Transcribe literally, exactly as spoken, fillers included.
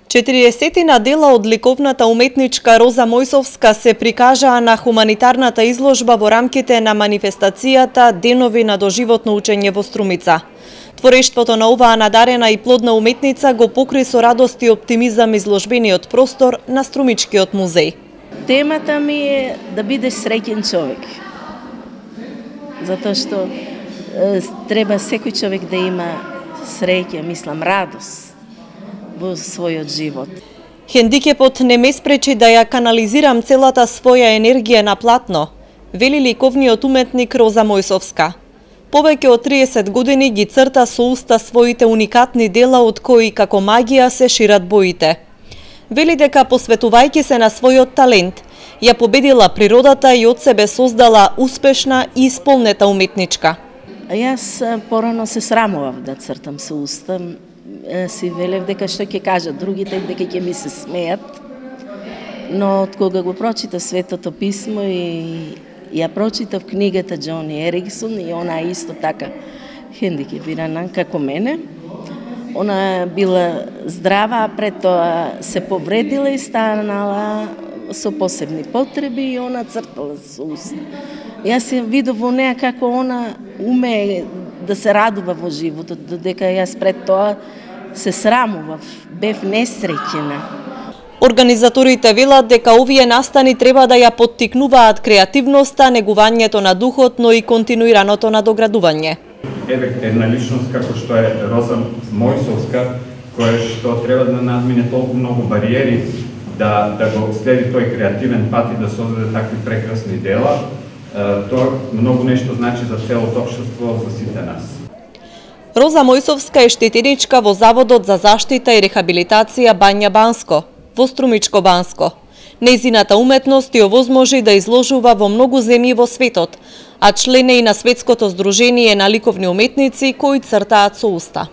четириесетина дела од ликовната уметничка Роза Мојсовска се прикажаа на хуманитарната изложба во рамките на манифестацијата Денови на доживотно учење во Струмица. Творештвото на оваа надарена и плодна уметница го покри со радост и оптимизам изложбениот простор на Струмичкиот музеј. Темата ми е да бидеш среќен човек. Затоа што е, треба секој човек да има среќа, мислам, радост во својот живот. Хендикепот не ме спречи да ја канализирам целата своја енергија на платно, вели ликовниот уметник Роза Мојсовска. Повеќе од триесет години ги црта со уста своите уникатни дела од кои како магија се шират боите. Вели дека посветувајќи се на својот талент, ја победила природата и од себе создала успешна и исполнета уметничка. А јас порано се срамував да цртам со уста. Си велев дека што ќе кажат другите, дека ќе ми се смеат. Но од кога го прочита Светото писмо и ја прочитав книгата Джони Ериксон и она исто така хендикепирана како мене, она била здрава, а пред тоа се повредила и станала со посебни потреби и она цртала со уста. Јас ја видов во неа како она уме да се радува во животот, додека јас пред тоа се срамував, бев несреќена. Организаторите велат дека овие настани треба да ја поттикнуваат креативноста, негувањето на духот, но и континуираното надоградување. Една личност како што е Роза Мојсовска, која што треба да надмине толку многу бариери, да, да го следи тој креативен пат и да создаде такви прекрасни дела, тоа многу нешто значи за целото општество, за сите нас. Роза Мојсовска е штетеничка во Заводот за заштита и рехабилитација Бања Банско, во Струмичко Банско. Нејзината уметност ја овозможи да изложува во многу земји во светот, а член е и на Светското здружение на ликовни уметници кои цртаат со уста.